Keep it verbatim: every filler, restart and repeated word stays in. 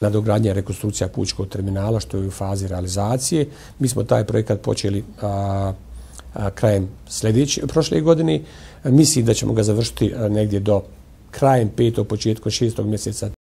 nadogradnja i rekonstrukcija Pučkog terminala, što je u fazi realizacije. Mi smo taj projekat počeli a, a, krajem sljedeće, prošle godine. Mislim da ćemo ga završiti negdje do krajem petog, početkom šestog mjeseca